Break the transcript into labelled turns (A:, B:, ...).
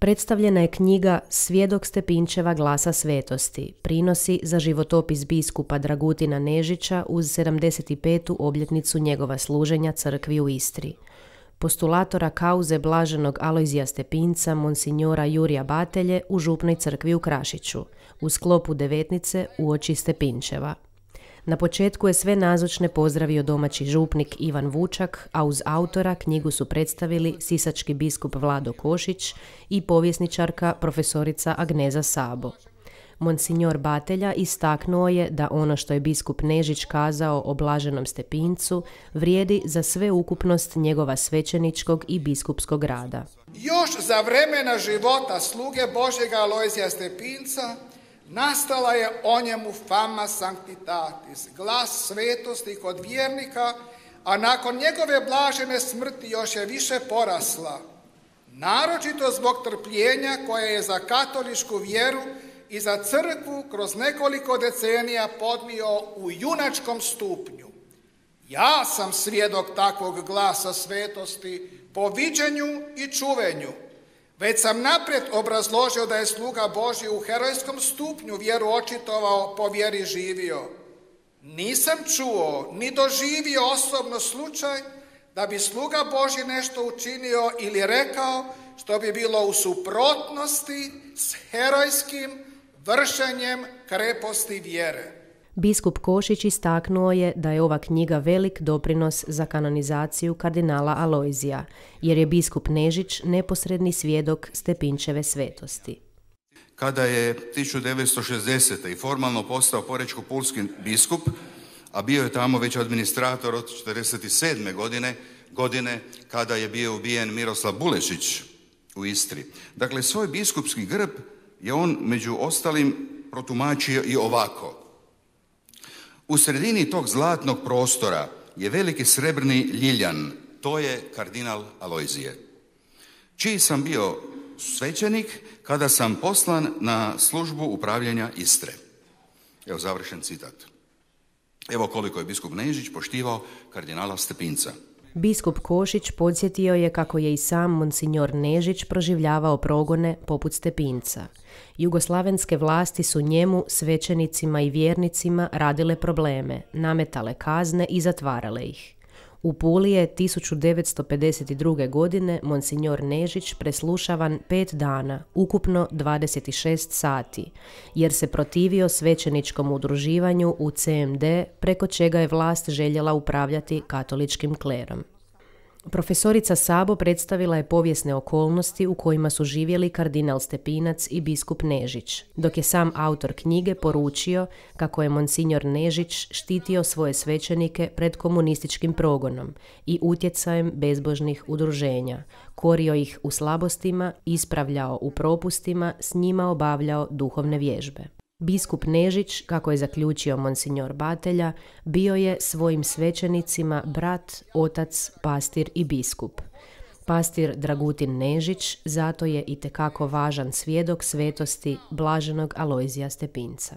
A: Predstavljena je knjiga Svjedok Stepinčeva glasa svetosti, prinosi za životopis biskupa Dragutina Nežića uz 75. obljetnicu njegova služenja crkvi u Istri. Postulatora kauze blaženog Alojzija Stepinca, monsinjora Jurija Batelje u župnoj crkvi u Krašiću, u sklopu devetnice uoči Stepinčeva. Na početku je sve nazočne pozdravio domaći župnik Ivan Vučak, a uz autora knjigu su predstavili sisački biskup Vlado Košić i povjesničarka profesorica Agneza Sabo. Monsinjor Batelja istaknuo je da ono što je biskup Nežić kazao o blaženom Stepincu vrijedi za sveukupnost njegova svećeničkog i biskupskog rada.
B: Još za vremena života sluge Božjega Alojzija Stepinca nastala je o njemu fama sanctitatis, glas svetosti kod vjernika, a nakon njegove blažene smrti još je više porasla, naročito zbog trpljenja koje je za katoličku vjeru i za crkvu kroz nekoliko decenija podnio u junačkom stupnju. Ja sam svjedok takvog glasa svetosti po viđenju i čuvenju. Već sam naprijed obrazložio da je sluga Božji u herojskom stupnju vjeru očitovao, po vjeri živio. Nisam čuo ni doživio osobno slučaj da bi sluga Božji nešto učinio ili rekao što bi bilo u suprotnosti s herojskim vršenjem kreposti vjere.
A: Biskup Košić istaknuo je da je ova knjiga velik doprinos za kanonizaciju kardinala Alojzija, jer je biskup Nežić neposredni svjedok Stepinčeve svetosti.
C: Kada je 1960. i formalno postao porečko-pulski biskup, a bio je tamo već administrator od 1947. godine kada je bio ubijen Miroslav Bulešić u Istri. Dakle, svoj biskupski grb je on među ostalim protumačio i ovako. U sredini tog zlatnog prostora je veliki srebrni ljiljan, to je kardinal Alojzije, čiji sam bio svećenik kada sam poslan na službu upravljanja Istre. Evo završen citat. Evo koliko je biskup Nežić poštivao kardinala Stepinca.
A: Biskup Košić podsjetio je kako je i sam monsinjor Nežić proživljavao progone poput Stepinca. Jugoslavenske vlasti su njemu, svećenicima i vjernicima radile probleme, nametale kazne i zatvarale ih. U Puli je 1952. godine monsinjor Nežić preslušavan 5 dana, ukupno 26 sati, jer se protivio svećeničkom udruživanju u CMD, preko čega je vlast željela upravljati katoličkim klerom. Profesorica Sabo predstavila je povijesne okolnosti u kojima su živjeli kardinal Stepinac i biskup Nežić, dok je sam autor knjige poručio kako je monsinjor Nežić štitio svoje svećenike pred komunističkim progonom i utjecajem bezbožnih udruženja, korio ih u slabostima, ispravljao u propustima, s njima obavljao duhovne vježbe. Biskup Nežić, kako je zaključio monsinjor Batelja, bio je svojim svećenicima brat, otac, pastir i biskup. Pastir Dragutin Nežić zato je itekako važan svjedok svetosti blaženog Alojzija Stepinca.